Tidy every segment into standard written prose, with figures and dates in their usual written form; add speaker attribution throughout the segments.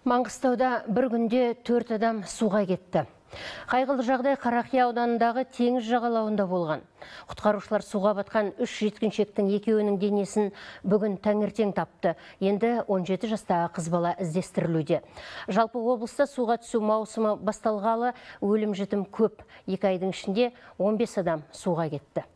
Speaker 1: Маңғыстауда бір күнде 4 адам суға кетті. Қайғылы жағдай Қарақия ауданындағы теңіз жағалауында болған. Құтқарушылар суға батқан 3 жеткіншектің екеуінің денесін бүгін таңертең тапты. Енді 17 жастағы қыз бала іздестірілуде. Жалпы облыста суға түсу маусымы басталғалы өлім-жітім көп. 2 айдың ішінде 15 адам суға кетті.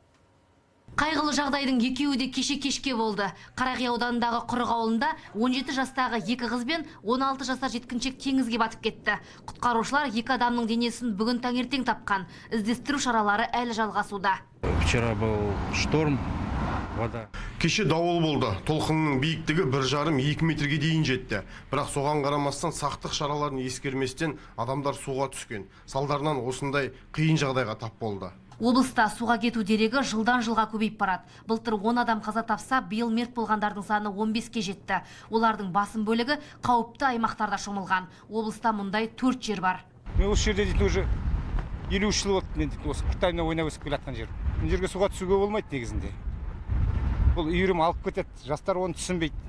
Speaker 2: Қайғылы жағдайдың екеуі де кешке болды. Қарақия ауданындағы Құрық ауылында 17 жастағы 2 қыз бен 16 жасар жеткіншек теңізге батып кетті. Құтқарушылар 2 адамның денесін бүгін таңертең тапқан. Іздестіру шаралары әлі жалғасуда.
Speaker 3: Вчера был шторм, вода.
Speaker 4: Кеше дауыл болды. Толқынның биіктігі 1,5-2 метрге дейін жетті. Бірақ соған қарамастан сақтық шараларын ескерместен адамдар суға түскен. Салдарынан осындай қиын жағдайға тап болды.
Speaker 2: Облыста суға кету дерегі жылдан жылға көбейіп барады. Былтыр 10 адам қаза тапса, биыл мерт болғандардың саны 15-ке жетті. Олардың басым бөлігі қауіпті аймақтарда шомылған. Облыста мұндай 4 жер бар.
Speaker 3: Мен осы жерде дейтін уже 53 жыл болды, мен осы Қытайна ойнап өсіп келе жатқан жер. Бұл жерге суға түсуге болмайды негізінде. Бұл үйірім алып кетеді, жастар оны түсінбейді.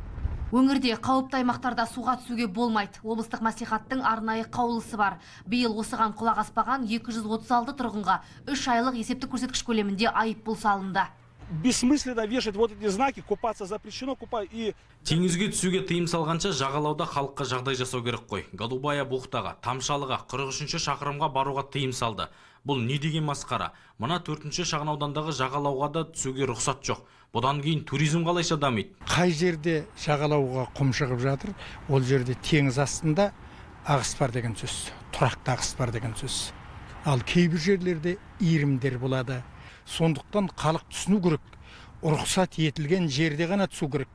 Speaker 2: Өңірде қауіпті аймақтарда суға түсуге болмайды. Облыстық мәслихаттың арнайы қаулысы бар. Биыл осыған құлақ аспаған 236 тұрғынға 3 айлық есептік көрсеткіш көлемінде айыппұл салынды.
Speaker 5: Бессмысленно вешать вот эти знаки, купаться запрещено, и...
Speaker 6: Теңізге түсуге тыйым салғанша жағалауда халыққа жағдай жасау керек қой. Голубая бухтаға, Тамшалыға, 43-ші шақырымға баруға тыйым салды. Бұл не деген масқара? Мына 4-ші шағын аудандағы жағалауға да түсуге рұқсат жоқ. Бұдан кейін туризм қалайша дамиды?
Speaker 7: Қай жерде жағалауға құм шығып жатыр, ол жерде теңіз астында ағыс бар деген сөз, тұрақты ағыс бар деген сөз. Ал кейбір жерлерде иірімдер болады. Сондықтан халық түсіну керек. Рұқсат етілген жерде ғана түсу керек.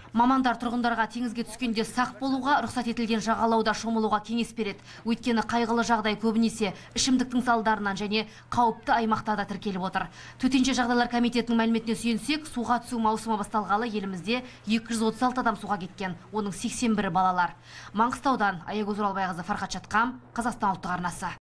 Speaker 2: Мамандар тұрғындарға теңізге түскенде сақ болуға, рұқсат етілген жағалауда шомылуға кеңес береді. Өйткені қайғылы жағдай көбінесе ішімдіктің салдарынан және қауіпті аймақтарда тіркеліп отыр. Төтенше жағдайлар комитетінің мәліметіне сүйенсек, суға түсу маусымы басталғалы елімізде 236 адам суға кеткен, оның 81-і балалар. Маңғыстаудан Аягөз Оралбайқызы, Фархат Шатқам, Қазақстан ұлттық арнасы.